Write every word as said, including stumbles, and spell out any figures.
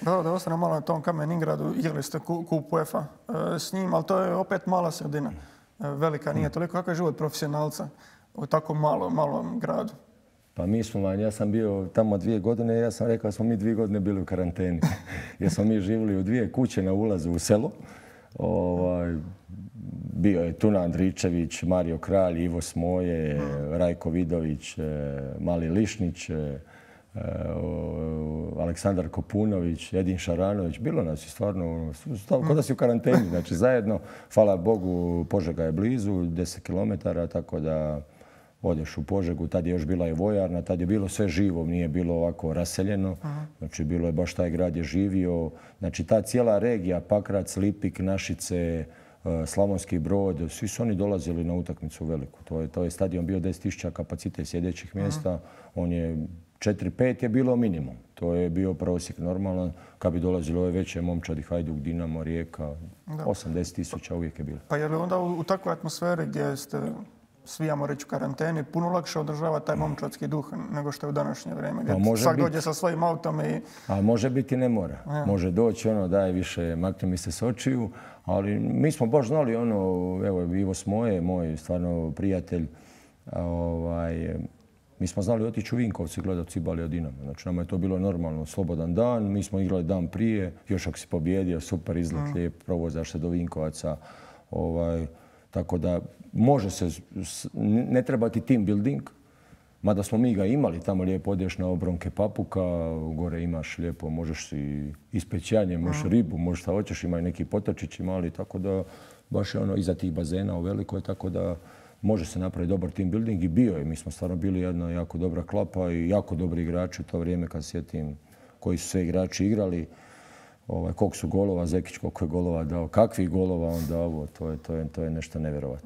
Da, da ostane malo na tom Kamen-Ingradu, igrali ste kup UEFA s njim, ali to je opet mala sredina. Velika nije toliko. Kako je život profesionalca u tako malo, malom gradu? Pa mi smo, ja sam bio tamo dvije godine i ja sam rekao da smo mi dvije godine bili u karanteni. Jer smo mi živjeli u dvije kuće na ulazu u selo. Ovaj, bio je Tuna Andričević, Mario Kralj, Ivo Smoje, Rajko Vidović, Mali Lišnić, Aleksandar Kopunović, Edin Šaranović. Bilo nas je stvarno, kao da si u karanteni. Znači zajedno, hvala Bogu, Požega je blizu, deset kilometara, tako da odeš u Požegu. Tad je još bila i vojarna, tad je bilo sve živo, nije bilo ovako raseljeno. Znači bilo je baš taj grad je živio. Znači ta cijela regija, Pakrac, Lipik, Našice, Slavonski Brod, svi su oni dolazili na utakmicu veliku. To je, to je stadion bio deset tisuća kapacitet sjedećih mjesta. On je četiri pet je bilo minimum. To je bio prosjek normalan. Kad bi dolazili ove veće momčadi, Hajduk, Dinamo, Rijeka, osamdeset tisuća uvijek je bilo. Pa je li onda u, u takvoj atmosferi gdje ste svi, ajmo reći, u karanteni, puno lakše održava taj momčadski duh nego što je u današnje vrijeme? Gdje svak dođe sa svojim autom i... A može biti, ne mora. Ja. Može doći, ono, daj više, makni mi se s očiju. Ali mi smo baš znali, ono, evo, Ivo Smoje, moj stvarno prijatelj, ovaj, mi smo znali otići u Vinkovci gledati Cibali od Dinama. Znači, nama je to bilo normalno, slobodan dan. Mi smo igrali dan prije, još ako si pobjedio, super izlet, lijep, provozaš se do Vinkovaca. Ovaj, tako da može se, ne treba ti team building, mada smo mi ga imali, tamo lijepo odeš na obronke Papuka, gore imaš lijepo, možeš si ispećanje, možeš ribu, možeš šta hoćeš, ima i neki potočići mali, tako da baš je ono iza tih bazena u velikoj, tako da može se napraviti dobar team building i bio je. Mi smo stvarno bili jedna jako dobra klapa i jako dobri igrači u to vrijeme kad sjetim koji su sve igrači igrali. Ovaj, koliko su golova, Zekić koliko je golova dao, kakvih golova on dao, to je, to je, to je nešto nevjerovatno.